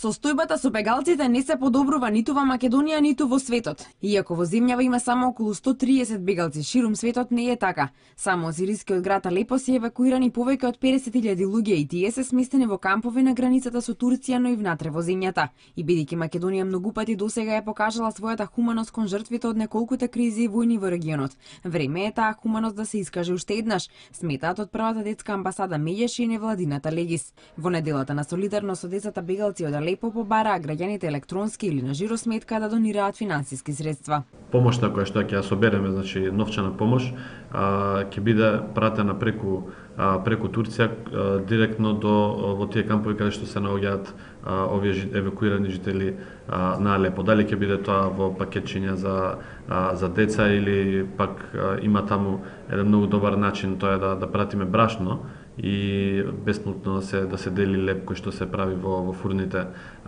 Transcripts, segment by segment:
Состојбата со бегалците не се подобрува ниту во Македонија, ниту во светот. Иако во земјава има само околу 130 бегалци, ширум светот не е така. Само од сирискиот град Алепо се евакуирани повеќе од 50.000 луѓе и тие се сместени во кампови на границата со Турција, но и внатре во земјата. И бидејќи Македонија многу пати досега е покажала својата хуманост кон жртвите од неколкуте кризи и војни во регионот, време е таа хуманост да се искаже уште еднаш, сметаат од првата детска амбасада Меѓеш и невладината Легис. Во неделата на солидарност со децата бегалци од Алепо побараа граѓаните електронски или на жиросметка да донираат финансиски средства. Помошта која што ќе ја собереме, значи новчана помош, ќе биде пратена преку Турција директно во тие кампови каде што се наоѓаат овие евакуирани жители на Алепо. Дали ќе биде тоа во пакетчиња за деца или пак има таму еден многу добар начин, тоа е да пратиме брашно и бесплатно да се дели леп кој што се прави во фурните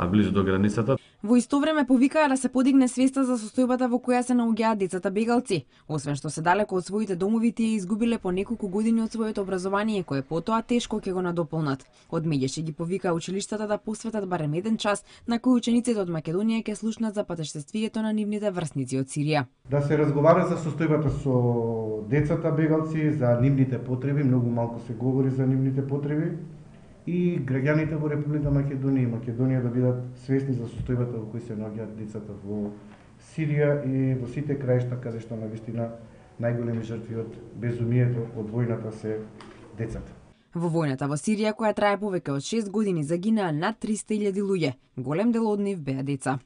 близу до границата. Во исто време повикаа да се подигне свеста за состојбата во која се наоѓаат децата бегалци. Освен што се далеко од своите домови, тие изгубиле по неколку години од своето образование, кое потоа тешко ќе го надополнат. Од Меѓеш ги повикаа училиштата да посветат барем еден час на кој учениците од Македонија ќе слушнат за патештествието на нивните врсници од Сирија. Да се разговара за состојбата со децата бегалци, за нивните потреби, многу малку се говори за нивните потреби, и граѓаните во Република Македонија и Македонија да бидат свесни за состојбата во кој се наоѓаат децата во Сирија и во сите краишта каде што навистина најголеми жртви од безумието од војната се децата. Во војната во Сирија, која трае повеќе од 6 години, загинаа над 300.000 луѓе. Голем дел од нив беа деца.